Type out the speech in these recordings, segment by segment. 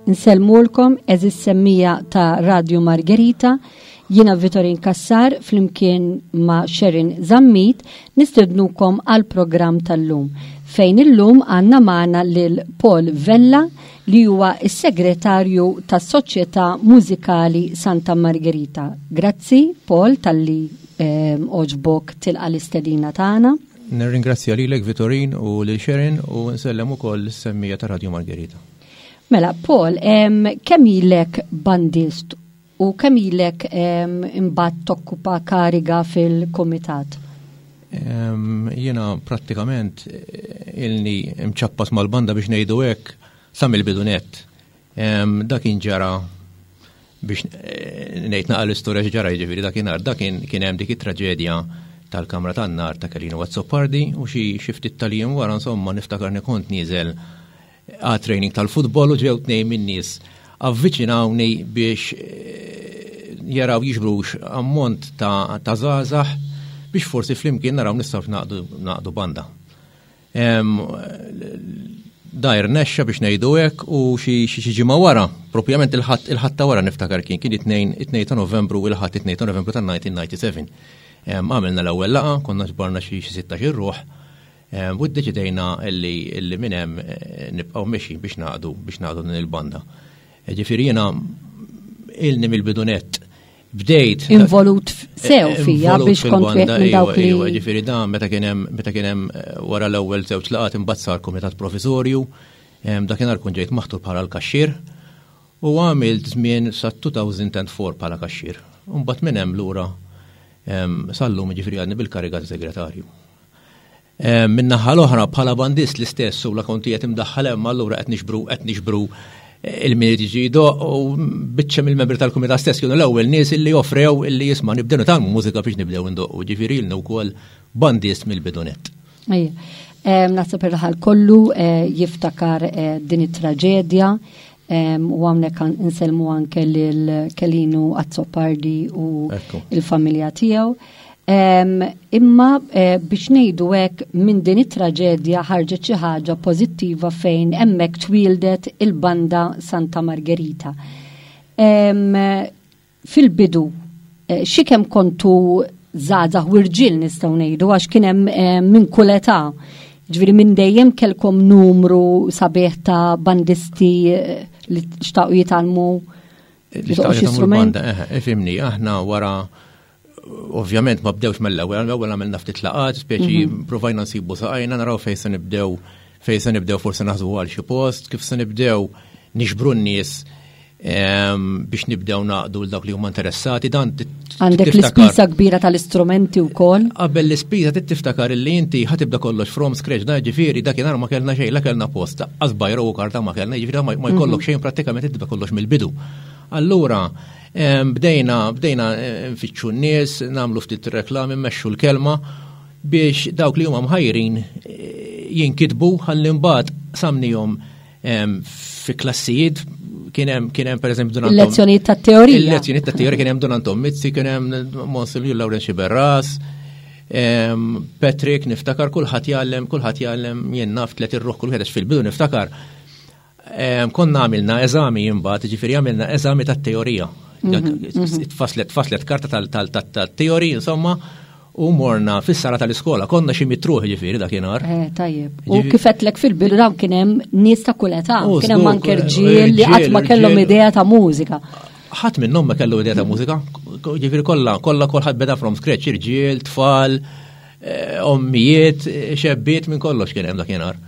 Nsellmulkom għeżież semmija ta' Radju Margherita, jiena Vitorin Cassar flimkien ma' Sharon Zammit nistednukom għal programm tal-lum fejn illum għandna magħna lil Paul Vella li huwa s-segretarju tas-Soċjetà Mużikali Santa Margherita. Grazzi Paul talli ehm, għoġbok tilqa' l-istedina tagħna. Nirringrazzja lilek Vitorin u lil Sharon u nsellem ukoll is-semmija ta' Radju Margherita. Mela, Paul, kemm ilek bandist u kemm ilek imbagħad tokkupa kariga fil-kumitat? Jiena prattikament eh, ilni mċappas mal-banda biex ngħidu hekk sa mill-bidu nett. Dak kien ġara biex eh, ngħid naqa' l-istorja x'ġara jiġifieri dakinhar dak kien hemm dik it-traġedja tal-kamra tan-nar ta' Kelino Azzopardi u xi ftit tal-jiem wara insomma niftakar kont nieżel għat training tal-futbol u ġew tnejn min-nies avviċinawni biex eh, jaraw jiġbrux ammont ta' żgħażagħ biex forsi flimkien naraw nistgħu naqdu banda. Da irnexxa biex ngħidu hekk u xi ġimgħa wara, propjament il-ħadd il-ħadd ta' wara niftakar kien kien it-2 ta' Novembru il-ħadd it-2 ta' Novembru tan-1997. Għamilna l-ewwel laqgħa, konna ġbarna xi 16 ruħ u ddeċidejna li minn hemm eh, nibqgħu mexi biex naqdu biex naqdu din il-banda. Ġifieri jiena ilni mill-bidu nett bdejt. Involut sew eh, fija biex kont wieħed minn dawk li. Iva, ġifieri dan meta kien hemm meta kien hemm eh, wara l-ewwel żewġ laqgħat imbagħad sar kumitat proviżorju, dakinhar kont ġejt maħtur bħala l-kaxxier u għamilt żmien sa 2004 bħala kaxxier. Imbagħad minn hemm lura sal-lum ġifieri għadni bil-kariga ta' segretarju. Eh, min-naħa l-oħra bħala bandist l-istess u la konti qed imdaħħal hemm allura qed nixbru qed nixbru eh, il-min jiġi jdoq u biċċa mill-membri tal-kumitat stess kienu l-ewwel nies illi offrew illi jisma' nibdew nitgħallmu mużika biex nibdew indoqqu, ġifieri ilna wkoll bandist mill-bidunet. Naħseb ir-raħal kollu eh, jiftakar din it-traġedja u hawnhekk insellmu anke lil Kelinu Azzopardi u il-familja tiegħu. Imma eh, biex ngħidu hekk minn din it-traġedja ħarġet xi ħaġa pożittiva fejn hemmhekk twieldet il-banda Santa Margherita. Fil-bidu, eh, xi kemm kontu żgħażagħ u rġiel nistgħu ngħidu għax kien hemm eh, minn kull età. Ġifieri minn dejjem kelkom numru sabiħ ta' bandisti li xtaqu jitgħallmu Li xtaqu jitgħallmu l-banda, ifimni, aħna wara ovvjament ma bdewx mill-ewwel, l-ewwel għamilna ftit laqat, speċi mhm. provajna nsibu saqajna naraw fejn se nibdew fejn se nibdew forsi naħsbu għal xi post, kif se nibdew nixbru n-nies ehm, biex nibdew naqdu l dawk li huma interessati dan Għandek l-ispiża kbira tal-istrumenti wkoll. Qabel l-ispiża tiftakar li inti ħatibda kollox from scratch dan ġifieri dakinhar ma kellna xejn, la kellna post, qas bajru u karta ma kellna, ġifieri ma jkollok mhm. xejn prattikament tibda kollox mill-bidu. Allura, Bdejna, bdejna eh, nfittxu n-nies, nagħmlu ftit reklami, mmexxu l-kelma biex dawk li huma mħajrin eh, jinkitbu ħalli mbagħad samnihom fi klassijiet kien hemm kien hemm pereżempju Don Il-lezzjonijiet tat-teorija. Il-lezzjonijiet tat-teorija kien hemm Don Anton Mizzi, kien hemm Monsinjur Lawren Xiberras, Patrick niftakar kulħadd jgħallem, kulħadd jgħallem jien naf tliet irruħ kull wieħed fil-bidu niftakar Konna għamilna eżami imbagħad, ġifieri għamilna eżami tat-teorija. Mhm, mhm. Tfaslet tfaslet karta tal-teori, insomma, u morna fis-sala tal-iskola, konna xi mitruħ ġifieri dakinhar. Eh, tajjeb. U kif qedlek fil-bidu dawn kien hemm nies ta' kull età, kien hemm anke rġiel li qatt ma kellhom idea ta' mużika. Ħadd minnhom ma kellu idea ta' mużika, ġifieri kollha, kollha kulħadd beda from scratch, irġiel, tfal, eh, ommijiet, xebbiet minn kollox kien hemm dakinhar.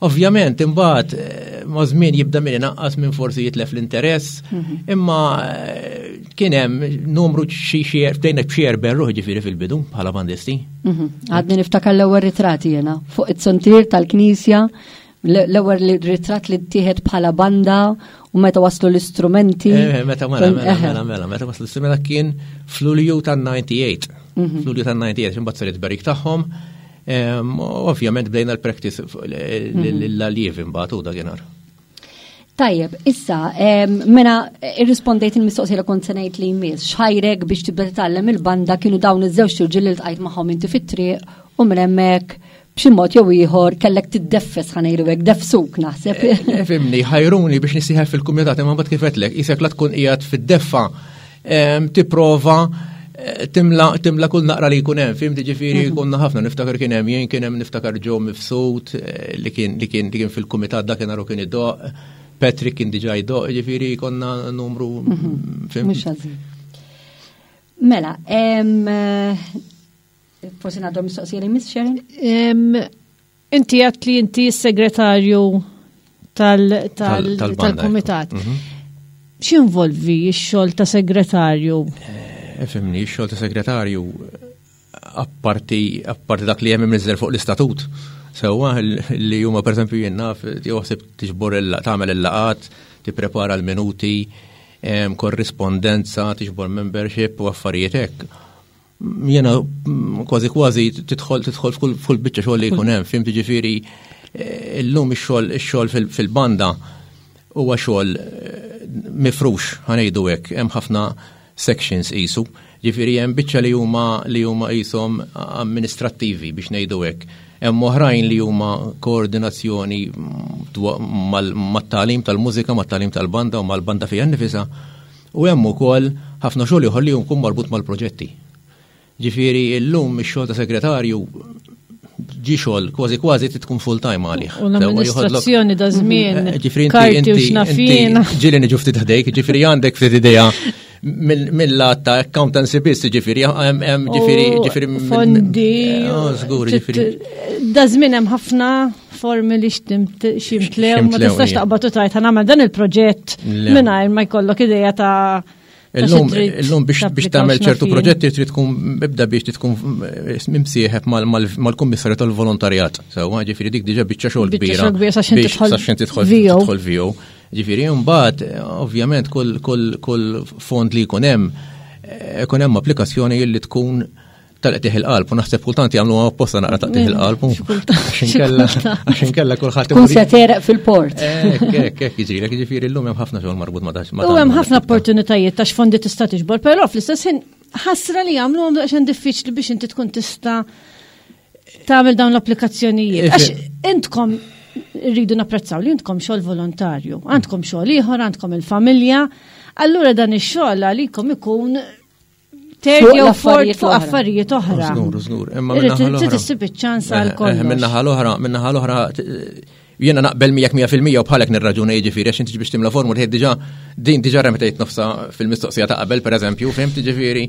Ovvjament, imbagħad eh, ma' żmien jibda min inaqqas minn forsi jitlef l-interess, mhm. imma eh, kien hemm numru xi xi bdejna b'xi erben ruħ ġifieri fil-bidu bħala bandisti. Mhm. Għadni niftakar l-ewwel ritrati jiena fuq it-sontier tal-knisja l-ewwel ritratt li ttieħed bħala banda u meta waslu l-istrumenti. Eh, meta mela, mela, mela, mela, meta waslu l-istrumenti kien fl-Ulju tan-98. Mhm. Fl-Ulju tan-98 imbagħad saret berik tagħhom. Ovvjament bdejna l-practice l-allievi mbagħad u dakinhar. Tajjeb, issa, mela irrispondejt il-mistoqsija li kont se ngħid li jmiss, x'ħajrek biex tibda titgħallem il-banda kienu dawn iż-żewġ irġiel li ltqajt magħhom inti fit-triq u minn hemmhekk b'xi mod jew ieħor kellek tiddeffes ħa ngħidu hekk, defsuk naħseb. Eh, eh, fimni, ħajruni biex nisieħeb fil-kumitat imma mbagħad kif qedlek, isek la tkun qiegħed fid-deffa tipprova eh, timla timla kull naqra li jkun hemm, fim ġifieri mhm. konna ħafna niftakar kien hemm jien kien hemm niftakar ġo mifsud li kien li kien li kien fil-kumitat dakinhar u kien idoq, Patrick kien diġà jdoq, ġifieri konna numru mhm. fim. Mhux ħażin. Mela, Forsi ngħaddu mistoqsija li Miss Sharon? Inti għat li inti s-segretarju tal-komitat. Mhm. X'involvi x-xogħol ta' segretarju? Eh, fimni, x-xogħol ta' segretarju apparti apparti dak li hemm imniżżel fuq l-istatut. Sewwa li huma pereżempju jien naf joħseb tiġbor tagħmel il-laqat, tipprepara l-minuti, korrispondenza, tiġbor membership u affarijiet hekk. Jena kważi kważi tidħol tidħol f'kull biċċa xogħol li jkun hemm, fim ġifieri eh, illum ix-xogħol ix-xogħol fil-banda huwa xogħol eh, mifrux ħanejdu hekk, hemm ħafna sections qisu. Ġifieri hemm biċċa li huma li huma qishom amministrattivi biex ngħidu hekk. Hemm oħrajn li huma koordinazzjoni mat-tagħlim tal-mużika, mat-tagħlim tal-banda u mal-banda fiha nnifisha. U hemm ukoll ħafna xogħol ieħor li jkun marbut mal-proġetti. Ġifieri llum ix-xogħol ta' segretarju ġi xogħol kważi kważi tkun full time għalih. U l-amministrazzjoni da żmien. Eh, ġifieri inti inti ġieli niġu ftit ħdejk, ġifieri għandek ftit idea mill-lat ta' accountancy biss, ġifieri hemm ġifieri ġifieri fondi. Eh, oh, żgur, ġifieri. Da żmien hemm ħafna formi li ximtlew, ma tistax taqbad u tajt nagħmel dan il-proġett mingħajr ma jkollok idea ta' Illum, illum biex biex tagħmel ċertu proġetti trid tkun ibda biex tkun eh, mimsieħeb mal-kummissarju tal-volontarjat. Sewwa, ġifieri dik diġà biċċa xogħol kbira. Biex tidħol tidħol VO. Ġifieri mbagħad ovvjament kull kull fond li jkun hemm eh, ikun hemm applikazzjoni li tkun tal-qtih il-qalb u naħseb kultant jagħmlu apposta naqra taqtih il-qalb. Għax inkella kulħadd. Kun se tereq fil-port. Hekk hekk hekk jiġrilek, jiġifieri llum hemm ħafna xogħol marbut ma' dax. U hemm ħafna opportunitajiet ta' x'fondi tista' tiġbor, però fl-istess ħin ħasra li jagħmlu għamlu għax diffiċli biex inti tkun tista' tagħmel dawn l-applikazzjonijiet. Għax intkom rridu napprezzaw li intkom xogħol volontarju, għandkom xogħol ieħor, għandkom il-familja, allura dan ix-xogħol għalikom ikun Third jew fourth fuq affarijiet oħra. Żgur, żgur. Imma minnaħa l-oħra. Trid issib iċ-ċans għal eh, eh, kollox. Minnaħa l-oħra, minnaħa l-oħra jiena naqbel miegħek 100% u bħalek nirraġuna jiġifieri għax inti biex timla formula tgħid diġà din diġà remetejt nofsa fil-mistoqsija ta' qabel pereżempju, fhimt jiġifieri.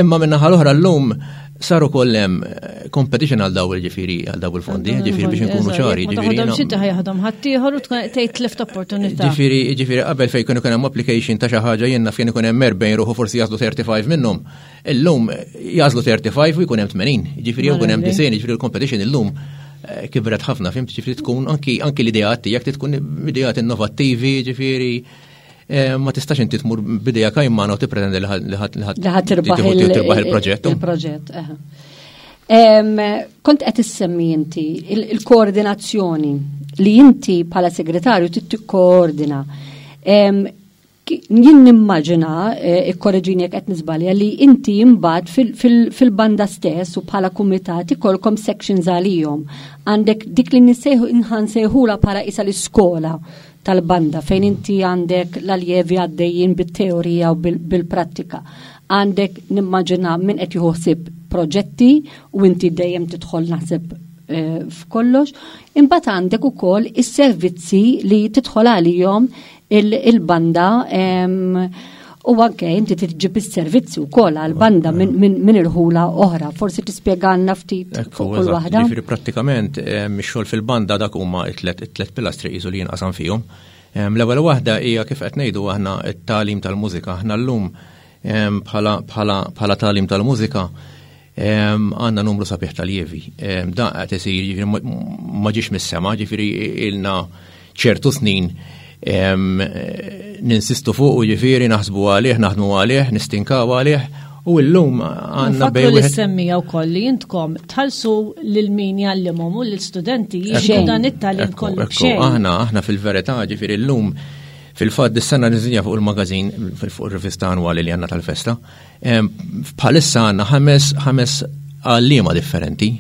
Imma minnaħa l-oħra llum saru kollem eh, competition għal daw il-ġifiri, għal daw il-fondi, ġifiri biex nkunu ċari. Ġifiri. Xi ħajaħdom ħaddieħor u tgħid tlift opportunità. Ġifiri, ġifiri qabel fejn kienu hemm application ta' xi ħaġa jenna fejn ikun hemm 40 ruħu forsi jażlu 35 minnhom. Illum jażlu 35 u jkun hemm 80. Ġifiri jew jkun hemm 90, ġifiri l-competition illum eh, kibret ħafna, fimt ġifiri tkun anki anki l-ideat tiegħek tkun ideat innovattivi, ġifiri Eh, ma tistax inti tmur bidejja kajmana u tippretendi li ħadd li ħadd tirbaħ il-proġett. Il-proġett, Kont qed issemmi inti il-koordinazzjoni li inti bħala segretarju trid tikkoordina. Jien nimmaġina, eh, ikkoreġini jekk qed niżbalja, li inti imbagħad fil-banda stess u bħala kumitat ikolkom sections għalihom. Għandek dik li nissejħu nħansejħula bħala isa l-iskola tal-banda fejn inti għandek l-aljevi għaddejjin bit-teorija u bil-prattika. Għandek nimmaġina min qed jieħu ħsieb proġetti u inti dejjem tidħol naħseb eh, f'kollox. Imbagħad għandek ukoll is-servizzi li tidħol għalihom il-banda u anke inti tiġib is-servizzi wkoll għal-banda minn irħula oħra. Forsi tispjegalna ftit fuq kull waħda. Ġifieri prattikament ix-xogħol fil-banda dak huma it-tlet pilastri qisu li jinqasam fihom. L-ewwel waħda hija kif qed ngħidu aħna t-tagħlim tal-mużika. Aħna llum bħala tagħlim tal-mużika għandna numru sabiħ tal-jevi. Dan qed isir jiġifieri ma ġiex mis-sema, ġifieri ilna ċertu snin ninsistu fuq u ġifieri naħsbu għalih, naħdmu għalih, nistinkaw għalih. U llum għandna bejn. li semmija wkoll li intkom tħallsu lil min jgħallimhom u lill-studenti jiġu dan it-tagħlim kollu b'xejn. Aħna aħna fil-verità ġifieri llum fil-fatt dis-sena niżinja fuq il-magazin fuq ir-rivista annwali li għandna tal-festa. Bħalissa għandna ħames ħames għalliema differenti.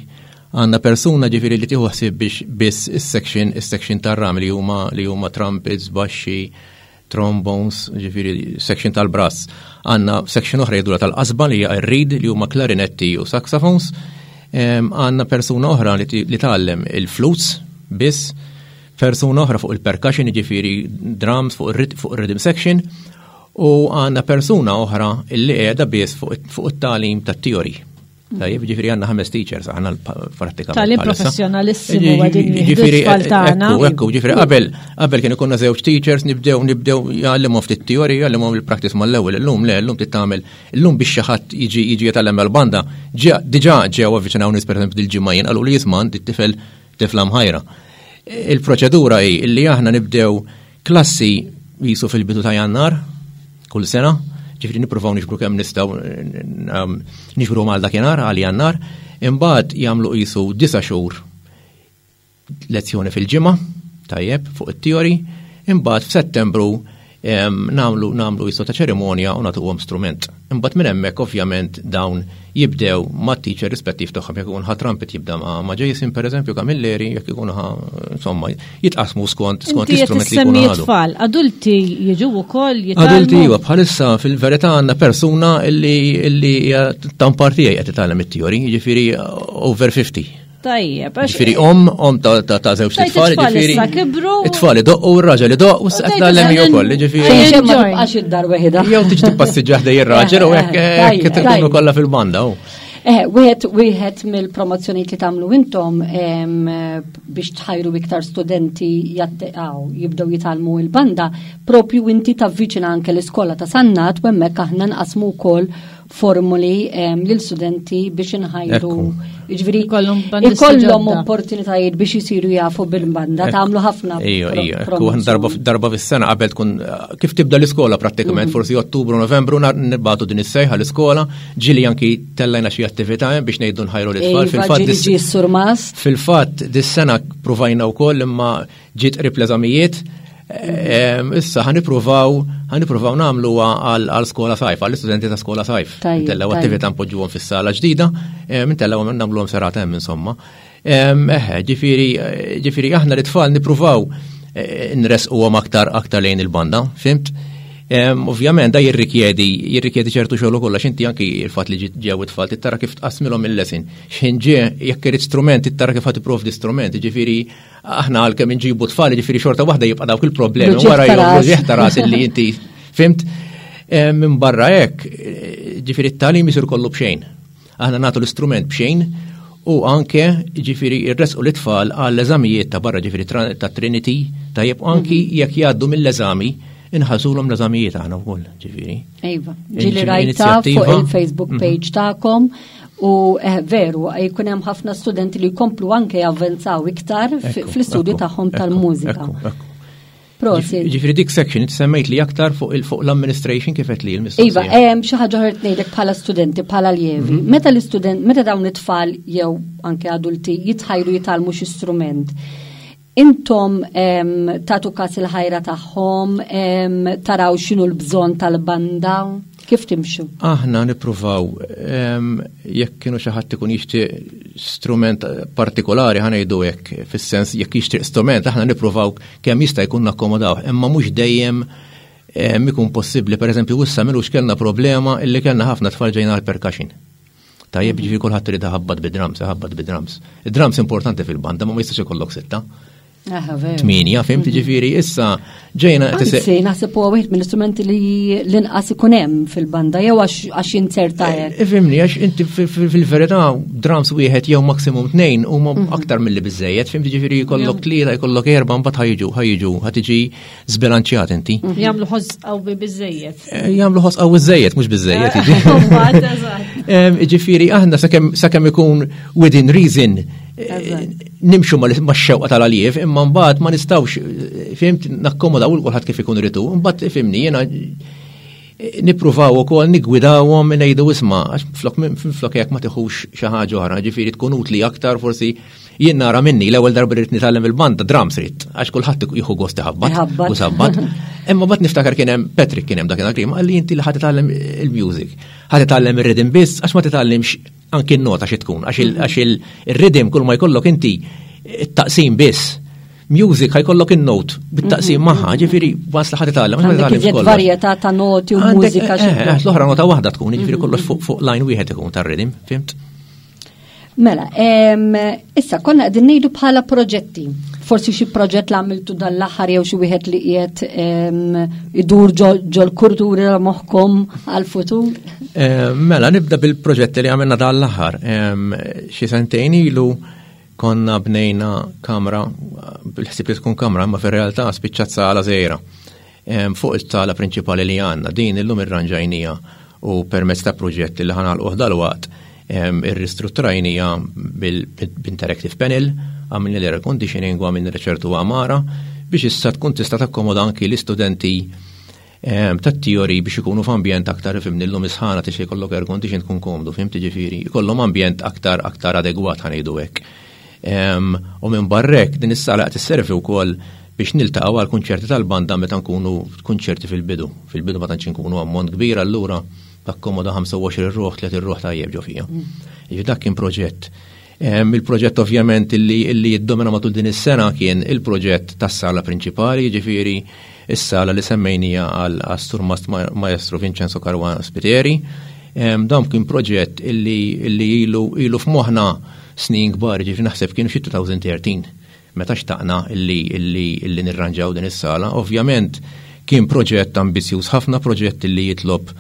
Għandna persuna ġifieri li tieħu ħsieb biex biss is-section is-section tar-ram li huma li huma trumpets, baxxi, trombones, ġifieri section tal-brass. Għandna section oħra jgħidulha tal-qasba li hija r-reed li huma klarinetti u saxophones. Għandna persuna oħra li tgħallem il-flutes biss, persuna oħra fuq il-percussion, ġifieri drums fuq ir-rhythm section, u għandna persuna oħra li qiegħda biss fuq it-tagħlim tat-theory. Tajjeb, ġifieri għandna ħames teachers aħna pratikament. Tagħlim bħalissa. professjonalissimu għadin jieħdu Ġifieri, t-tfal tagħna. Ekku, ekku, ġifieri qabel qabel kien ikunna żewġ teachers nibdew nibdew jgħallimhom ftit teorija, jgħallimhom il-practice mal-ewwel, illum le, illum trid tagħmel, illum biex xi ħadd jiġi jiġi jitgħallem mal-banda, ġa diġà ġew avviċinaw nies pereżempju dil-ġimgħa jien qalu li jisma' għandi tifel tifla mħajra. Il-proċedura hi li aħna nibdew klassi jisu fil-bidu ta' Jannar kull sena, ġifieri nippruvaw niġbru kemm nistgħu niġbru mal dakinhar għal Jannar, imbagħad jagħmlu qisu disa' xhur lezzjoni fil-ġimgħa, tajjeb, fuq it-teori, imbagħad f'Settembru nagħmlu nagħmlu qisu ta' ċerimonja u nagħtuhom strument. Imbagħad minn hemmhekk ovvjament dawn jibdew mat-teacher rispettiv tagħhom, jekk ikun ħa trumpet jibda ma' Jason pereżempju Camilleri, jekk ikun ħa insomma jitqasmu skont skont Inti qed l-istrument li jkunu issemmi ħadu. tfal, adulti jiġu wkoll jitgħallmu. Adulti iva, bħalissa fil-verità għandna persuna illi illi hija tampar tiegħi qed titgħallem it-teori, jiġifieri over 50. Tajjeb, għax Ġifieri om, om ta' ta' ta' żewġ Tajt tfal, it-tfal ġifieri issa kibru. It-tfal idoqqu u r-raġel idoqq u s-qed Tajt tgħallem issa hi wkoll, ġifieri. Xejn ma Enjoy. tibqax id-dar weħida. Jew tiġi tippassiġġa ħdej ir-raġel u hekk Tajjeb, hekk tkunu tajjeb. kollha fil-banda. u. Eh, wieħed wieħed mill-promozzjonijiet li tagħmlu intom em, biex tħajru iktar studenti jatteqgħu jibdew jitgħallmu il-banda, propju inti tavviċina anke l-iskola ta' Sannat u hemmhekk aħna nqasmu wkoll formuli em, lil studenti biex inħajru. Ekku. Jiġifieri Ikollhom bandisti ikollhom ġodda. opportunitajiet biex isiru jafu bil-banda, tagħmlu ħafna. Ejju, pro- ejju, ekku, promozzjoni. darba, darba fis-sena qabel tkun kif tibda l-iskola prattikament, forsi Ottubru, Novembru, nar- nibgħatu din is-sejħa l-iskola, ġili anki tellajna xi attività hemm biex ngħidu nħajru l-itfal. Iva, Fil-fatt ġieli dis- ġie s-surmast. Fil-fatt, dis-sena provajna wkoll imma ġiet qrib l-eżamijiet. Issa ħanipruvaw ħanipruvaw nagħmluha għal għal skola sajf, għall istudenti ta' skola sajf. Tajjeb, Intellaw tajjeb. attività npoġġuhom fis-sala ġdida, intellaw nagħmluhom serata hemm insomma. Eħe, ġifieri ġifieri aħna l-itfal nippruvaw eh, nresquhom aktar aktar lejn il-banda, fimt? Ovvjament da jirrikjedi jirrikjedi ċertu xogħol ukoll għax inti anki il-fatt li ġi- ġew it-tfal tittara kif tqasmilhom il-lesin. X'ħin ġie jekk irid strument tittara kif ħad tipprovdi strument, ġifieri aħna għalkemm inġibu tfal, ġifieri xorta waħda jibqa' dawk il-problemi L-uġigħ wara ta' jew ras. l-uġigħ ta' ras illi inti fimt. Minn barra hekk, eh, ġifieri t-tagħlim isir kollu b'xejn. Aħna nagħtu l-istrument b'xejn u anke ġifieri rresqu l-itfal għall eżamijiet ta' barra ġifieri tra- ta' Trinity, tajjeb u anki jekk jgħaddu mill-eżami inħallsulhom l-eżamijiet aħna wkoll, ġifieri. Iva, ġili Inizjattiva. rajta fuq il-Facebook Mhm. page tagħkom u eh, veru, jkun hemm ħafna studenti li jkomplu anke javvenzaw iktar fi- Ekku, fl-istudju ekku, tagħhom ekku, tal-mużika. ekku, ekku. Prosit. Ġifieri dik section inti semmejt li aktar fuq il fuq l-administration kif qed li l-mistoqsija. Iva, hemm xi ħaġa ħert ngħidlek bħala studenti, bħala aljevi. Mhm. Meta l-istudent, meta dawn it-tfal jew anke adulti jitħajru jitgħallmu xi strument, intom em, tagħtu każ il-ħajra tagħhom, em, taraw x'inhu l-bżonn tal-banda, kif timxu? Aħna nippruvaw em, jekk kienu xi ħadd ikun jixtieq strument partikolari ħa ngħidu hekk fis-sens jekk jixtieq strument aħna nippruvaw kemm jista' jkun nakkomodaw, imma mhux dejjem em, ikun possibbli. Pereżempju issa milux kellna problema illi kellna ħafna tfal ġejna għal percussion. Tajjeb ġifieri kulħadd irid iħabbat bid-drums, iħabbat bid-drums. Id-drums importanti fil-banda, ma ma jistax ikollok sitta. Aha, veru. Tminja, fimt ġifieri issa ġejna qed ise- Anzi, naħseb huwa wieħed mill-istrumenti li l-inqas ikun hemm fil-banda jew għax għax jinzerta hekk. Ifimni, għax inti fi- fi- fil-verità drums wieħed jew maksimum tnejn huma aktar mill-li biżejjed, fimti ġifieri jkollok tlieta, jkollok erba' mbagħad ħajġu, ħajġu, ħatiġi żbilanċjat inti. Jagħmlu ħoss qawwi biżejjed. Eh, Jagħmlu ħoss qawwi żejjed, mhux biżejjed. jiġi. Mbagħad, eżatt. Em, Ġifieri aħna sakemm sakemm ikun within reason eh, Eżatt. nimxu mal- max-xewqa tal-aljev, imma mbagħad ma nistgħux eh, fimt nakkomodaw il kulħadd kif ikun ritu, mbagħad ifimni jiena eh, nippruvaw ukoll niggwidawhom ngħidu isma' għax flok flok jekk ma tiħux xi ħaġa oħra, ġifieri tkun utli aktar forsi jien nara minni l-ewwel darba rrid nitgħallem il-banda drums rid għax kulħadd jieħu gost iħabbat Iħabbat. u sabbat. Imma bat niftakar kien hemm Patrick kien hemm dakinhar krim qalli inti li ħa titgħallem il-music, ħa titgħallem ir-rhythm biss għax ma titgħallimx Anki n-nota xi tkun, għax il-rhythm kull ma jkollok inti it-taqsim biss. Music ħa jkollok in-note bit-taqsim magħha, ġifieri once li ħa titgħallem. Għandek iżjed varjetà ta' noti u mużika. Eh, eh, l-oħra nota waħda tkun, ġifieri kollox fuq line wieħed ikun tar-rhythm, fimt? Mela, issa konna qegħdin ngħidu bħala proġetti. Forsi xi proġett li għamiltu dan l-aħħar jew xi wieħed li qiegħed idur ġol-kurturi ta' moħħkom għall-futur. Mela, nibda bil-proġetti li għamilna dan l-aħħar. Xi sentejn ilu konna bnejna kamra, bil-ħsieb li tkun kamra, ma fir-realtà spiċċat sala żgħira. Fuq il-sala prinċipali li għandna, din illum irranġajnija u permezz ta' proġett li ħa nagħlquh dalwaqt irristrutturajnija bil-interactive panel, għamilna l-air conditioning u għamilna ċertu għamara biex issa tkun tista' takkomoda anki l-istudenti tat-teori biex ikunu f'ambjent aktar fimni l-lum isħana tixi jkollok air condition tkun komdu, fimt ġifieri, jkollhom ambjent aktar aktar adegwat ħa ngħidu hekk. U minn barrek din is-sala qed isservi wkoll biex niltaqgħu għal kunċerti tal-banda meta nkunu kunċerti fil-bidu. Fil-bidu ma tantx nkunu ammont kbir allura takkomoda 25 ruħ, 30 ruħ tajjeb ġo fija. Ġifieri dak kien proġett. Il-proġett ovvjament illi jiddomina matul din is-sena kien il-proġett tas-sala prinċipali, ġifieri is-sala li semmejnija għal Surmast Maestro Vincenzo Caruana Spiteri. Dan kien proġett illi ilu f'moħħna snin kbar, ġifieri naħseb kienu xi 2013 meta xtaqna illi nirranġaw din is-sala. Ovvjament kien proġett ambizjuż ħafna, proġett illi jitlob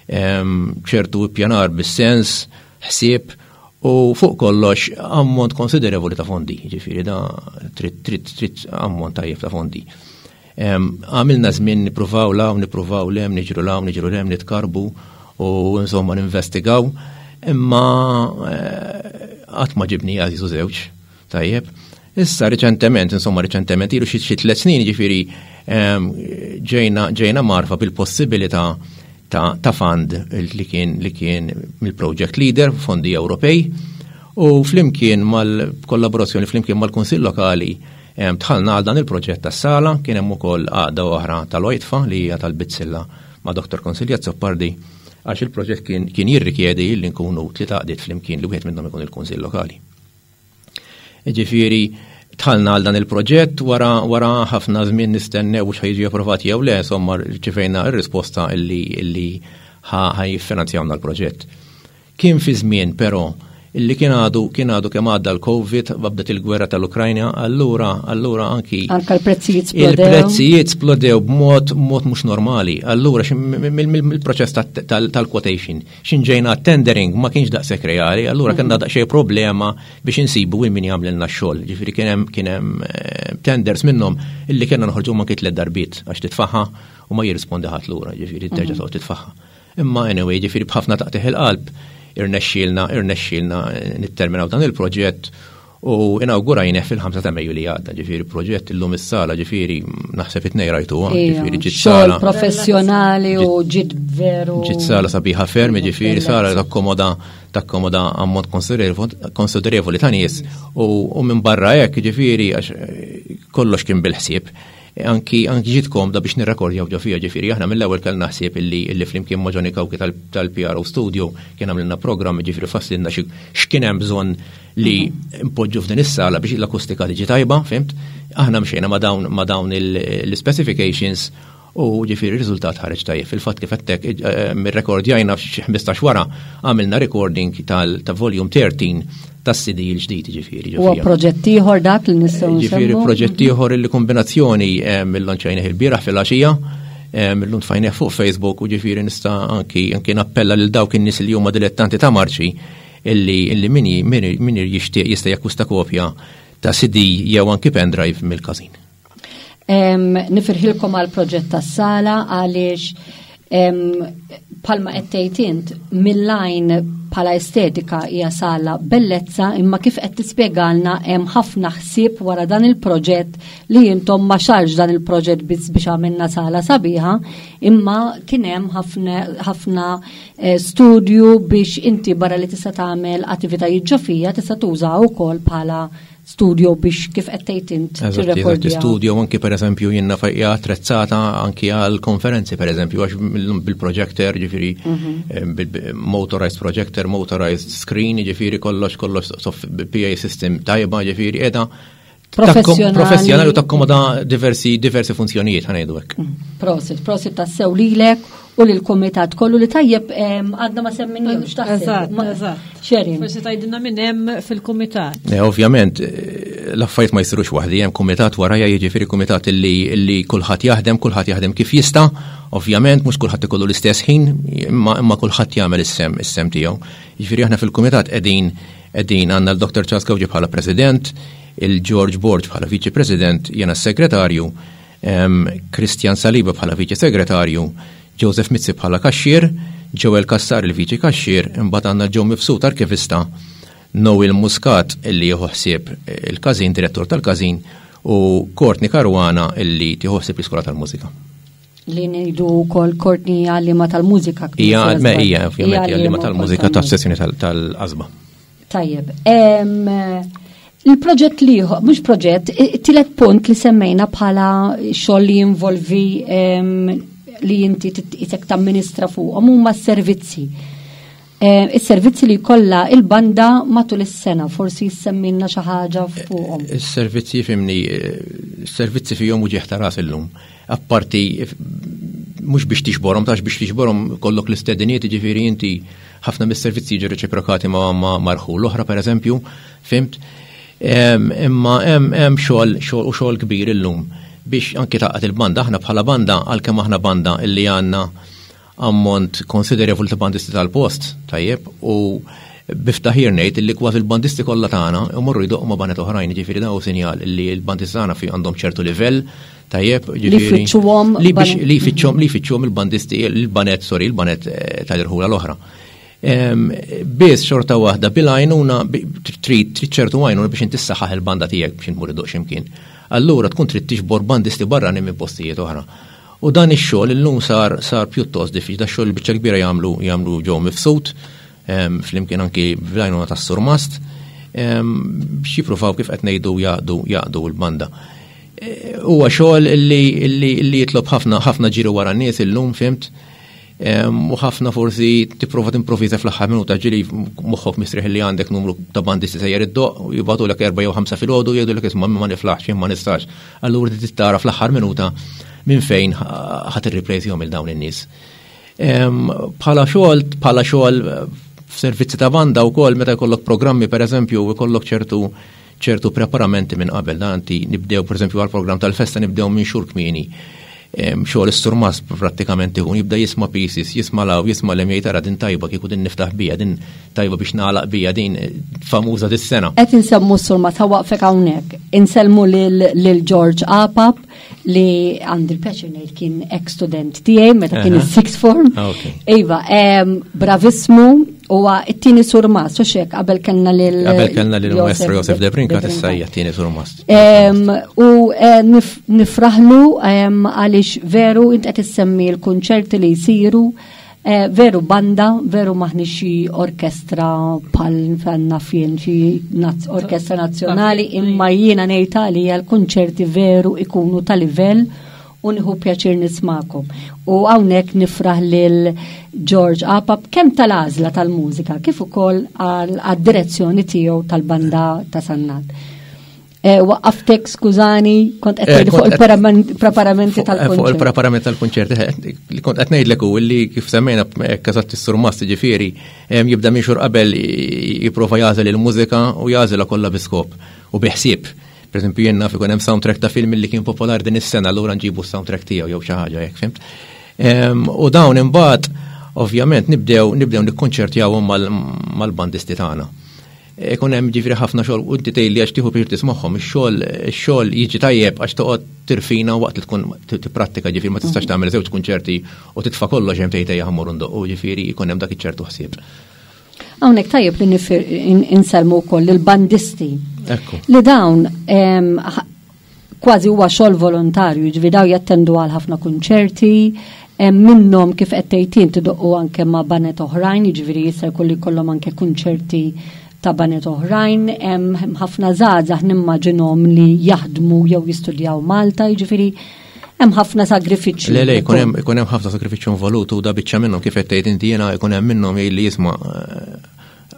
ċertu ippjanar bis-sens, ħsieb u fuq kollox ammont konsiderevoli ta' fondi, ġifieri da trid ammont tajjeb ta' fondi. Għamilna żmien nippruvaw law, nippruvaw lem, niġru law, niġru lem, nitkarbu u insomma ninvestigaw, imma qatt ma ġibni għażiż u żewġ, tajjeb. Issa reċentement, insomma reċentement, ilu xi 3 snin ġifieri ġejna marfa bil-possibilità ta' fund li kien mill-Project Leader, fondi Ewropej, u flimkien mal-kollaborazzjoni flimkien mal-Kunsill Lokali dħalna għal dan il-proġett tas-sala, kien hemm ukoll għaqda oħra tal-Oitfa li hija tal-Bizzilla ma' Dr. Consilio Azzopardi, għax il-proġett kien jirrikjedi li nkunu tliet għaqdiet flimkien li wieħed minnhom ikun il-Kunsill Lokali. Ġifieri dħalna għal dan il-proġett wara ħafna żmien nistennew mhux ħa jiġi approvat jew le, insomma rċivejna r-risposta illi ħa jiffinanzjawna l-proġett. Kien fi żmien però illi kien għadu kemm għadda l-Covid, bdiet il-gwerra tal-Ukrajna, allura anki Anka l-prezzijiet splodew. Il-prezzijiet splodew b'mod mod mhux normali. Allura mill-proċess tal-quotation, xin ġejna tendering ma kienx daqshekk reali, allura kellna daqsxejn problema biex insibu min jagħmlilna x-xogħol. Ġifieri kien hemm tenders minnhom illi kellna noħorġu ma tliet darbiet għax titfaħħa u ma jirrispondi ħadd lura, ġifieri terġa' toqgħod titfaħħa. Imma anyway, ġifieri b'ħafna taqtigħ il-qalb irnexxielna nitterminaw dan il-proġett u inaugurajneh fil-5 ta' Mejju li għadda, ġifieri proġett illum is-sala, ġifieri naħseb it-tnejn rajtuha, ġifieri ġiet sala. Xogħol professjonali u ġiet veru. Ġiet sala sabiħa ferm, ġifieri sala takkomoda ammont konsiderevoli ta' nies u minn barra hekk, ġifieri għax kollox kien bil-ħsieb. Anki ġiet komda biex nirrekordjaw ġo fija, ġifieri aħna mill-ewwel kellna ħsieb illi flimkien ma' Johnny Cauchi tal-PRO Studio kien għamlilna programm, ġifieri fassilna x'kien hemm bżonn li npoġġu f'din is-sala biex l-akustika tiġi tajba, fimt? Aħna mxejna ma' dawn l-specifications u ġifieri r-riżultat ħareġ tajjeb. Fil-fatt kif għedtek, mir-rekordjajna f'xi 15 wara għamilna recording ta' volume 13 tas-CD l-ġdid, ġifieri, Huwa ġifieri. proġett ieħor dak li nistgħu Ġifieri nsemmu? proġett ieħor li kombinazzjoni mill-lonċajnih il-bieraħ fil-għaxija, millum tfajnieh fuq Facebook u ġifieri nista' anki nappella lil dawk in-nies li huma dilettanti ta' marċi illi min jixtieq jista' jakkwista kopja ta' CD jew anki pendrive mill-każin. Nifirħilkom għal proġett tas-sala għaliex palma qed tgħid int mill-lajn bħala estetika hija sala bellezza, imma kif qed tispjegalna hemm ħafna ħsieb wara dan il-proġett li intom ma xarx dan il-proġett biss biex għamilna sala sabiħa, imma kien hemm ħafna studju biex inti barra li tista' tagħmel attivitajiet ġo fija tista' tuża wkoll bħala studio biex kif qed tgħid int tirrekordja. Studio anki pereżempju jiena hija attrezzata anki għal konferenzi pereżempju għax bil-projector ġifieri mhm. eh, bil-motorized projector, motorized screen, ġifieri kollox kollox PA system tajba ġifieri qiegħda professjonali. Professjonali u takkomoda diversi diversi funzjonijiet ħanejdu hekk. Mm. Prosit, prosit tassew lilek u lill-kumitat kollu li tajjeb għadna ma semminihomx taħseb. Eżatt, eżatt. Xerin. Forsi tgħidilna minn hemm fil-kumitat. Eh, ovvjament, eh, l-affarijiet ma jsirux waħdi, hemm kumitat warajja jiġifieri kumitat illi, illi kulħadd jaħdem, kulħadd jaħdem kif jista', ovvjament mhux kulħadd ikollu l-istess ħin, imma imma kulħadd jagħmel is-sem is-sem tiegħu. Jiġifieri aħna fil-kumitat qegħdin qegħdin għandna l-Dr. Charles Gawġi bħala President, il-George Borg bħala Viċi President, jiena s-Segretarju, Christian Saliba bħala Viċi Segretarju, Joseph Mizzi bħala kaxxier, Joel Cassar il-Viċi Kaxxier, imbagħad għandna Joe Mifsud arkivista, Noel Muscat illi jieħu ħsieb il-każin, direttur tal-każin, u Courtney Caruana illi tieħu ħsieb l-iskola tal-mużika. Li ngħidu wkoll Courtney għalliema tal-mużika. Hija, hija, ovvjament, għalliema tal-mużika tas-sessjoni tal-qasba. Tajjeb. Il-proġett liħor, mhux proġett, it-tielet punt li semmejna bħala xogħol li jinvolvi li inti isek tamministra fuqhom huma s-servizzi. Is-servizzi li jkollha il-banda matul is-sena, forsi jissemmilna xi ħaġa fuqhom. Is-servizzi fimni, is-servizzi fihom uġieħ ta' ras illum. Apparti mhux biex tixborhom, tax biex tixborhom kollok l-istediniet, ġifieri inti ħafna mis-servizzi jiġu reċiprokati ma' marħu l-oħra pereżempju, fimt? Imma hemm xogħol xogħol u xogħol kbir illum biex anki taqgħod il-banda aħna bħala banda għalkemm aħna banda illi għandna ammont konsiderevoli ta' bandisti tal-post, tajjeb, u biftaħir ngħid illi kważi l-bandisti kollha tagħna imorru jdoqqu ma' baned oħrajn, jiġifieri dan hu sinjal illi l-bandisti tagħna fi għandhom ċertu livell, tajjeb, ġifieri. Li jfittxuhom. Li jfittxuhom li jfittxuhom il-bandisti, il-baned, sorry, il-baned eh, tal-irħula l-oħra. Biss xorta waħda bil-għajnuna trid trid ċertu għajnuna biex inti ssaħħaħ il-banda tiegħek biex intmur iddoq x'imkien. Allura tkun trid tiġbor bandisti barranin minn postijiet oħra. U dan ix-xogħol illum sar sar pjuttost diffiċli, da xogħol biċċa kbira jagħmlu jagħmlu ġew mifsud flimkien anki bl-għajnuna tas-surmast biex jippruvaw kif qed ngħidu jaqdu jaqdu l-banda. E, huwa xogħol li jitlob ħafna ħafna ġiri wara n-nies illum fimt U ħafna forsi tipprova timprovviża fl-aħħar minuta ġili moħħok mistrieħ li għandek numru ta' bandisti sejjer id-doq u jibgħatulek erba' jew ħamsa filgħodu jgħidulek isma' ma niflaħx ma nistax. Allura trid tara fl-aħħar minuta minn fejn ħadd irriplejsihom il dawn in-nies. Bħala xogħol, bħala xogħol f'servizzi ta' banda wkoll meta jkollok programmi pereżempju jkollok ċertu ċertu preparamenti minn qabel. Dan anti nibdew pereżempju għall-programm tal-festa nibdew minn xhur kmieni. Xogħol is-surmas prattikament ikun jibda jisma' pieces, jisma' law, jisma' lem jgħid ara din tajba kieku din niftaħ bija, din tajba biex nagħlaq bija din eh, famuża dis-sena. Qed insemmu s-surmas waqfek hawnhekk. Insellmu lil George Apap li għandi l-pjaċir ngħid kien ex student tiegħi meta kien is-sixth form. Ah, iva, bravismu huwa t-tieni surmas u xek qabel kellna lil Qabel kellna lil Maestro Josef De Brinka issa hija t-tieni surmas. U eh, nifraħlu għaliex veru int qed issemmi l-kunċerti li jsiru Eh, veru banda, veru maħni xi orkestra pal għanna fien xi orkestra nazzjonali, imma jiena ngħid għalija l-kunċerti veru ikunu ta' livell u nieħu pjaċir nismakom. U hawnhekk nifraħ lil George Apap kemm tal-għażla tal-mużika kif ukoll għad-direzzjoni tiegħu tal-banda ta' Sannat. Eh, waqqaftek, skużani, kont qed eh, fuq il-preparamenti eh, tal-kunċert. Fuq il-preparament tal-kunċert, li kont qed ngħidlek u li kif semmejna eżatt is-surmast ġifieri jibda minn xhur qabel jipprova jagħżel il-mużika u jagħżilha kollha bi skop u bi ħsieb. Per esempio, jien naf ikun hemm soundtrack ta' film li kien popolari din is-sena, allura nġibu s-soundtrack tiegħu jew xi ħaġa hekk, fimt? U dawn imbagħad ovvjament nibdew nibdew nikkonċertjawhom mal-bandisti tagħna. Ikun hemm ġifieri ħafna xogħol u inti tgħidli għax tieħu pjaċir tismagħhom, ix-xogħol ix-xogħol jiġi tajjeb għax toqgħod tirfina waqt li tkun tipprattika ġifieri ma tistax tagħmel żewġ kunċerti u titfa' kollox hemm tgħid ejja ħammur ndoqqu ġifieri jkun hemm dak iċ-ċertu ħsieb. Hawnhekk tajjeb li insellmu wkoll il-bandisti. Ekku. Li dawn kważi huwa xogħol volontarju, jiġifieri daw jattendu għal ħafna kunċerti, hemm minnhom kif qed tgħid int idoqqu anke ma' baned oħrajn, jiġifieri jista' jkun li jkollhom anke kunċerti ta' baned oħrajn, hemm ħafna żgħażagħ nimmaġinhom li jaħdmu jew jistudjaw Malta, jiġifieri hemm ħafna sagrifiċċju. Le, le, ikun hemm ħafna sagrifiċċju involut u da biċċa minnhom kif qed tgħid inti jiena ikun hemm minnhom li jisma'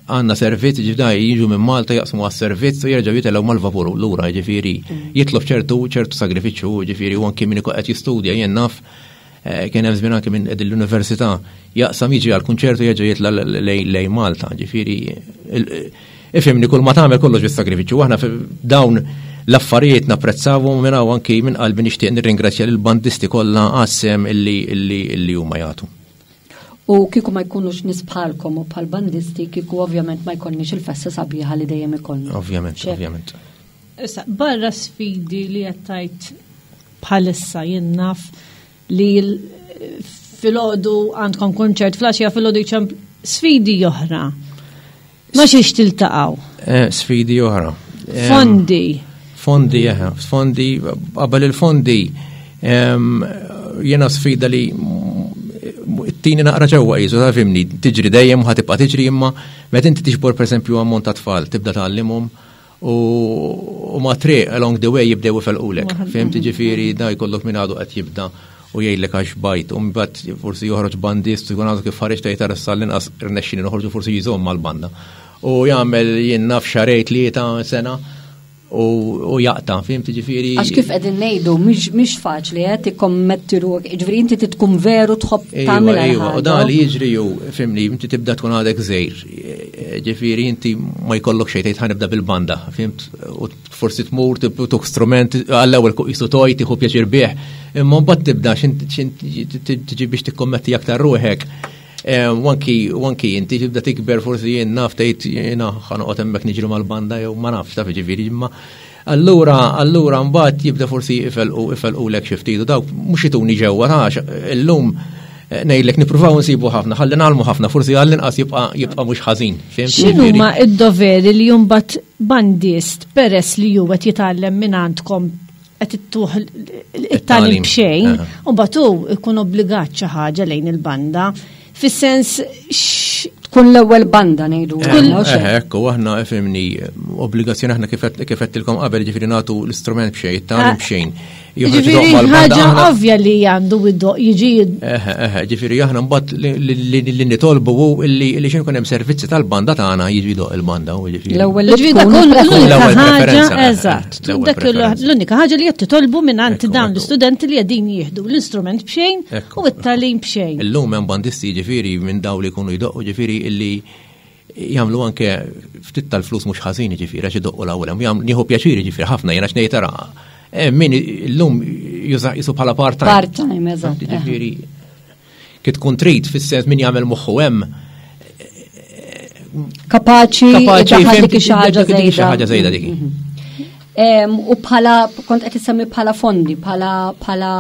għandna servizz ġifda jiġu minn Malta jaqsmu għas-servizz u jerġgħu jitilgħu mal-vapur lura, ġifieri jitlob ċertu ċertu sagrifiċċju, ġifieri u anki min ikun qed jistudja jien naf Eh, kien hemm żmien anke minn l-università jaqsam jiġi għal kunċertu jerġa' jitla' lej Malta, ġifieri ifhimni kull ma tagħmel kollox bis-sagrifiċċju. Aħna dawn l-affarijiet napprezzawhom minn hawn anki minn qalbi nixtieq nirringrazzja lill-bandisti kollha għas-sehem illi illi huma jagħtu. U kieku ma jkunux nies bħalkom u bħal bandisti, kieku ovvjament ma jkollniex il-festa sabiħa li dejjem ikollna. Ovvjament, ovvjament. Issa, barra sfidi li qed tgħid bħalissa jien naf li filgħodu għandkom konċert flaxija filgħodu jċemp sfidi oħra. Ma xiex tiltaqgħu. Eh, sfidi oħra. Fondi. Fondi, eh, fondi, qabel il-fondi jena sfida li t-tini naqra ġewwa jizu, ta' fimni, tiġri dejjem u ħatibqa' tiġri imma meta inti tiġbor pereżempju ammont ta' tfal, tibda tgħallimhom U ma triq along the way jibdew ifelqulek. Fhimt ġifieri da jkollok min għadu qed jibda u jgħidlek għax bajt u mbagħad forsi joħroġ bandist jkun għadu kif ħareġ tgħid tara issa l-inqas irnexxieli noħorġu forsi jżomm mal-banda. U jagħmel jien naf xahrejn tlieta sena u jaqta, fhimt ġifieri. Għax kif qegħdin ngħidu mhix faċli qed tikkommetti ruħek, ġifieri inti tkun veru tħobb tagħmel. Iva, u dan li jiġri ju, fimni, inti tibda tkun għadek żgħir, Ġifieri inti ma jkollok xejn tgħid ħanibda bil-banda, fimt? U forsi tmur tuk strument għall-ewwel jisu toj tieħu pjaċir bih, imma mbagħad tibda tiġi biex tikkommetti aktar ruħek. Eh, wanki wanki inti tibda tikber forsi jien naf tgħid jiena ħanoqgħod hemmhekk niġri mal-banda jew ma nafx taf ġifieri imma Allura, allura mbagħad jibda forsi ifelqu ifelqulek xi ftit u dawk mhux ituni ġewwa ta' illum eh, ngħidlek nippruvaw nsibu ħafna, ħalli nagħlmu ħafna, forsi għall-inqas jibqa' jibqa' mhux ħażin. X'inhuma id-doveri li mbagħad bandist peress li hu qed jitgħallem minn għandkom qed ittuh it-tagħlim b'xejn, u mbagħad hu jkun obbligat xi ħaġa lejn il-banda. Fis-sens tkun l-ewwel banda ngħidu. Eh, ekku, aħna fimni obbligazzjoni aħna kif qedtilkom qabel ġifieri nagħtu l-istrument b'xejn, it-tagħlim ah. b'xejn. Ġifieri ħaġa ovvja li għandu id-doq jiġi. Eh, eh, ġifieri aħna mbagħad li nitolbu hu li xejn ikun hemm servizzi tal-banda tagħna jiġi doq il-banda u ġifieri. L-ewwel ġifieri tkun l-unika ħaġa, eżatt. Dak l-unika ħaġa li qed titolbu minn dawn l-istudenti li qegħdin jieħdu l-istrument b'xejn U it-tagħlim b'xejn. Illum hemm bandisti jiġifieri minn dawn li jkunu jdoqqu ġifieri illi jagħmlu anke ftit tal-flus mhux ħażin jiġifieri għax idoqqu l-ewwel hemm. Nieħu pjaċir jiġifieri ħafna jien għax ngħid ara eh, min illum juża jisu bħala part-time. Part-time, eżatt. Jiġifieri kif tkun trid fis-sens min jagħmel moħħu hemm kapaċi kapaċi dik xi ħaġa żejda. ħaġa żejda dik. Mhm. U bħala, kont qed issemmi bħala fondi, bħala bħala.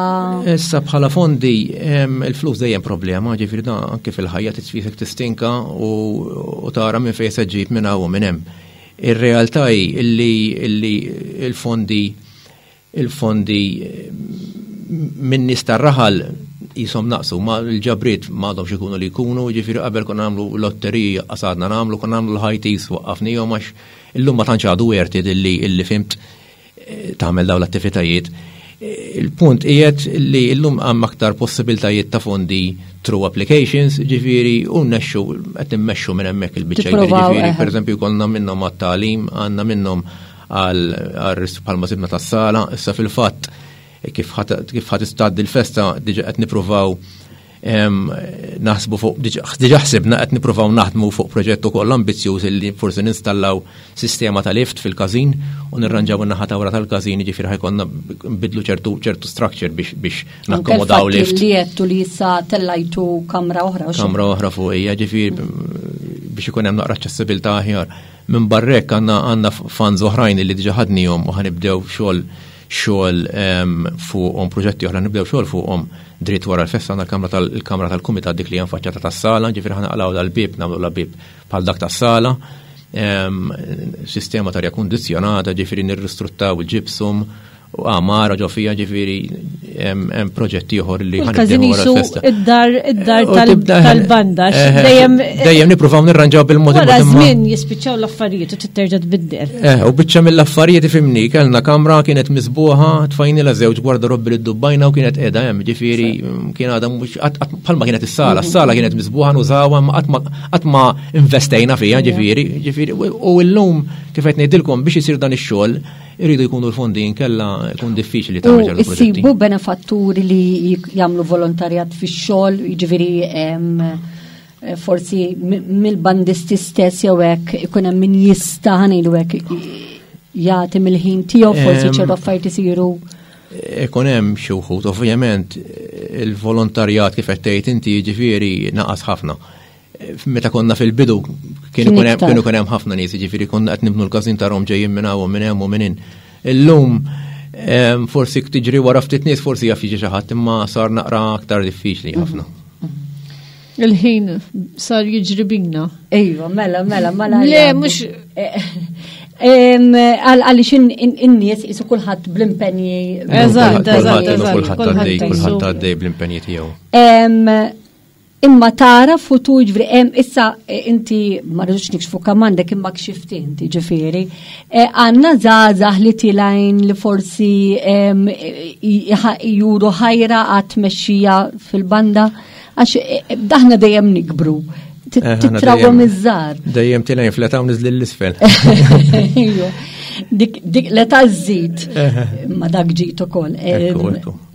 Issa bħala fondi, il-flus dejjem problema, ġifieri da anke fil-ħajja titfisek tistinka u tara minn fejn se ġib minn hawn u minn hemm. Ir-realtà hi illi il-fondi il-fondi minn nies tar-raħal jisom naqsu, ma l-ġabriet ma għadhomx ikunu li jkunu, ġifieri qabel konna nagħmlu lotteriji qasadna nagħmlu, konna nagħmlu l-ħajtis waqqafnihom għax Illum ma tantx għadu worth it illi illi fimt eh, tagħmel dawn l-attivitajiet. Eh, il-punt qiegħed li llum hemm aktar possibiltajiet ta' fondi through applications, ġifieri u nnexxu qed immexxu minn hemmhekk il-biċċa ġifieri pereżempju jkollna minnhom għat-tagħlim, għandna minnhom għal bħalma sibna tas-sala, issa fil-fatt kif ħadd istaddi l-festa diġa qed nippruvaw naħsbu fuq, diġa ħsibna qed nippruvaw naħdmu fuq proġett ukoll ambizzjuż li forsi ninstallaw sistema ta' lift fil-każin u nirranġaw in-naħa ta' wara tal-każin, jiġifieri ħajkonna nbidlu ċertu ċertu structure biex biex nakkomodaw lift. Li għedtu li issa tellajtu kamra oħra. Kamra oħra fuq hija, ġifieri biex ikun hemm naqra aċċessibilità aħjar. Minn barrek għandna għandna funds oħrajn li diġa ħadnihom u ħanibdew xogħol xogħol fuqhom proġetti oħra nibdew xogħol fuqhom dritt wara l-festa għandna l-kamra tal-kamra tal-kumitat dik li hemm faċċata tas-sala, ġifieri ħa naqlgħu dal-bieb nagħmlu la bieb bħal dak tas-sala. Sistema ta' arja kundizzjonata, ġifieri nirristruttaw il-ġipsum. Għamara ġo fija ġifieri hemm proġett ieħor li ħanibdew wara l-festa. Id-dar id-dar tal-banda eh, dejjem dejjem nippruvaw nirranġaw bil-mod Wara żmien jispiċċaw l-affarijiet u titterġa' tbiddel. Eh, u biċċa mill-affarijiet ifimni kellna kamra kienet miżbuħa tfajnilha żewġ gwardarobbi li ddubbajna u kienet qiegħda hemm ġifieri mm, kien għadha mhux bħalma kienet is-sala, mhm. s-sala kienet miżbuħa nużawha ma qatt ma investejna fiha ġifieri, ġifieri u llum kif qed ngħidilkom biex isir dan ix-xogħol Iridu jkunu l-fondi inkella jkun diffiċli tagħmel ċertu proġetti. Issibu benefatturi li jagħmlu volontarjat fix-xogħol, jiġifieri eh, forsi mill-bandisti stess jew hekk ikun hemm min jista' ħanejlu hekk jagħti mill-ħin tiegħu forsi ċertu affarijiet isiru. Ikun hemm xi wħud, ovvjament il-volontarjat kif qed tgħid inti jiġifieri naqas ħafna. Meta konna fil-bidu kienu kien hemm ħafna nies, jiġifieri konna qed nibnu l-każin tarhom ġejjin minn hawn minn hemm u minn hin. Illum forsi tiġri wara ftit nies forsi jaf jiġi xi ħadd imma sar naqra aktar diffiċli ħafna. Il-ħin sar jiġri bina. Ejwa, mela, mela, mela. Le, mhux Għaliex in-nies isu kulħadd bl-impenji. Eżatt, eżatt, kulħadd għaddej bl-impenji tiegħu. Imma tara futur ġifieri hemm issa eh, inti ma rridux nikxfu kemm għandek imma kxift inti ġifieri. Eh, għandna żgħażagħ li tilajn li forsi juru ħajra għat tmexxija fil-banda għax eh, daħna dejjem nikbru. Titrawhom iż-żgħar. Dejjem tilajn fl-età u niżli l-isfel. Dik l-età żżid ma dak ġid ukoll.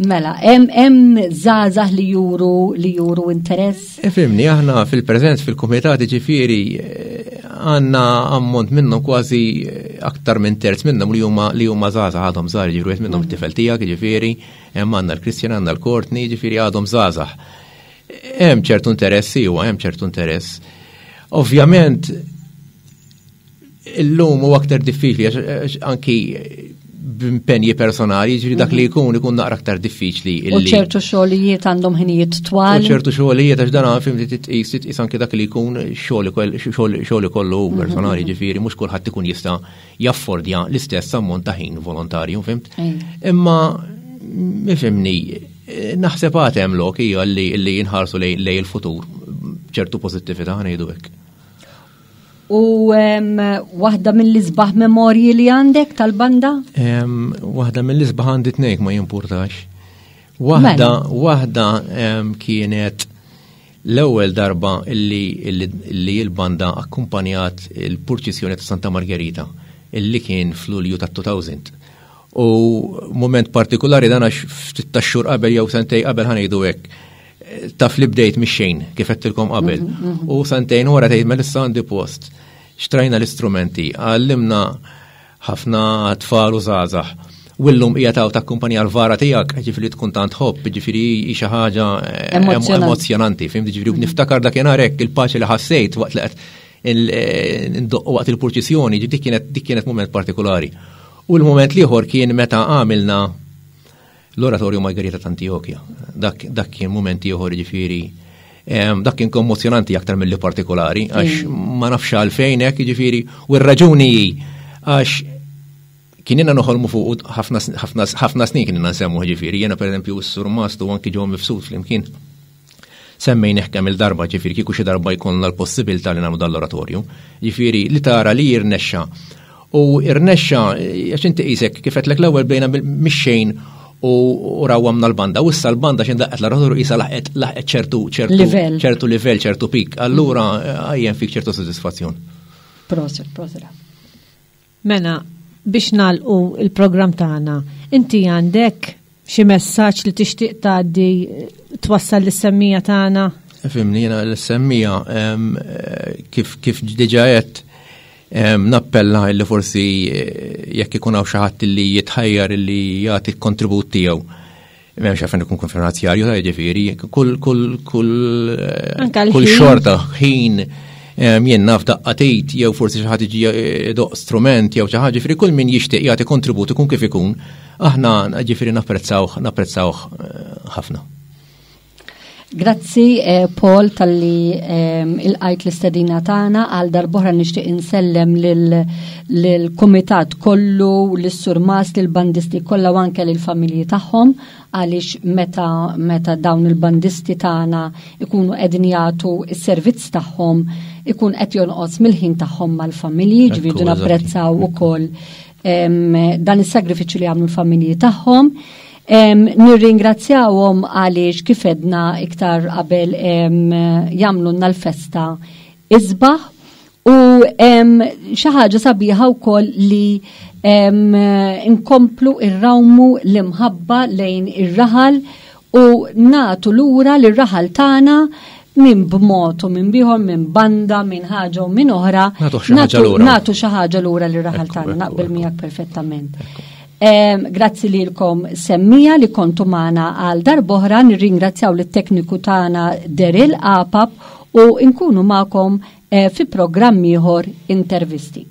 Mela, hemm żgħażagħ li juru li juru interess? Ifimni, aħna fil-preżent fil-kumitat ġifieri eh, għandna ammont minnhom kważi eh, aktar minn terz minnhom li huma li huma żgħażagħ għadhom żgħar ġifieri wieħed minnhom mm. it-tifel tiegħek ġifieri, hemm għandna l-Kristjan għandna l-Courtney, ġifieri għadhom żgħażagħ. Hemm ċertu interess, iwa, hemm ċertu interess. Ovvjament, Illum huwa aktar diffiċli għax anki b'impenji personali, ġifieri dak li mhm. jkun ikun naqra aktar diffiċli. U ċertu xogħlijiet għandhom ħinijiet twal. U ċertu xogħlijiet għax dan fim li titqis titqis anki dak li jkun xogħol ikollu mhm, personali, mhm. ġifieri mhux kulħadd ikun jista' jaffordja l-istess ammont ta' ħin volontarju, fimt? Imma ifimni, naħseb għad hemm lok hija li jinħarsu lej il-futur ċertu pożittività ngħidu hekk. U waħda mill-isbaħ memorji li għandek tal-banda? Waħda mill-isbaħ għandi tnejk ma jimpurtax. Waħda, mela. waħda kienet l-ewwel darba illi, illi l-banda akkumpanjat il-purċissjoni ta' Santa Margherita illi kien fl-Ulju ta' 2000. U moment partikolari dan għax ftit ta' xhur qabel jew sentej qabel ħanejdu hekk taf li bdejt mix-xejn, kif għedtilkom qabel. Mhm, mhm. U sentejn wara tgħid mela issa għandi post. Xtrajna l-istrumenti, għallimna ħafna tfal u żgħażagħ. U llum hija taw takkumpanja l-vara tiegħek, ġifieri tkun tant ħobb, ġifieri hi xi ħaġa eh, emozjonanti, fim ġifieri mhm. niftakar dakinhar hekk il-paċi li ħassejt waqt li qed eh, ndoqqu waqt il-purċissjoni, dik kienet dik kienet moment partikolari. U l-moment l-ieħor kien meta għamilna L-Oratorju Margherita ta' Antiochia. Dak, dak kien mument ieħor ġifieri dak kien kommozjonanti aktar mill-li partikolari, għax ma nafx għalfejn hekk ġifieri, u r-raġuni hi għax kien inna noħolmu fuq ħafna snin kien inna nsemmu ġifieri, jiena pereżempju s-surmast u anki ġew mifsud flimkien. Semmejnih kemm il-darba, ġifieri kieku xi darba jkollna l-possibilità li nagħmlu dan l-oratorju. Ġifieri li tara li jirnexxa. U irnexxa għax inti qisek kif għedtlek l-ewwel bdejna mix-xejn u rawwamna l-banda. U issa l-banda xejn daqqet l-oratorju qisha laħqet laħqet ċertu ċertu ċertu livell, ċertu pik. Allura għajjen fik ċertu sodisfazzjon. Proset, proset. Mela, biex nagħlqu il-programm tagħna, inti għandek xi messaġġ li tixtieq tgħaddi twassal lis-semmija tagħna? Fimni, jiena l-semmija kif kif diġà għedt nappella li forsi eh, jekk ikun hawn xi ħadd li jitħajjar li jagħti l-kontribut tiegħu M'hemmx għalfejn ikun finanzjarju ta' jiġifieri, kull kull kull kull xorta ħin jien naf daqqa tgħid jew forsi xi ħadd jiġi eh, doq strument jew xi ħaġa, ġifieri kull min jixtieq jagħti kontribut ikun kif ikun, aħna ġifieri napprezzawh napprezzawh eh, ħafna. Grazzi eh, Paul talli ehm, il-qajt l-istedina tagħna għal darb'oħra nixtieq insellem lill-kumitat kollu, lis-surmas, lill-bandisti kollha u anke lill-familji tagħhom għaliex meta meta dawn il-bandisti tagħna ikunu qegħdin jagħtu s-servizz tagħhom ikun qed jonqos mill-ħin tagħhom mal-familji, ġifieri napprezzaw ukoll ehm, dan is-sagrifiċċju li jagħmlu l-familji tagħhom. Nirringrazzjawhom għaliex kif edna iktar qabel jagħmlulna l-festa isbaħ u xi ħaġa sabiħa wkoll li nkomplu irrawmu l-imħabba lejn ir-raħal u natu lura lir-raħal tagħna minn b'mod u minn bieħor, minn banda, minn ħaġa u minn oħra. Natu xi ħaġa lura lir-raħal tagħna, naqbel miegħek perfettament. Grazzi lilkom semmija li kontu magħna għal darb'oħra, nirringrazzjaw lit-tekniku tagħna Daryl Apap u nkunu magħkom eh, fi programm ieħor intervisti.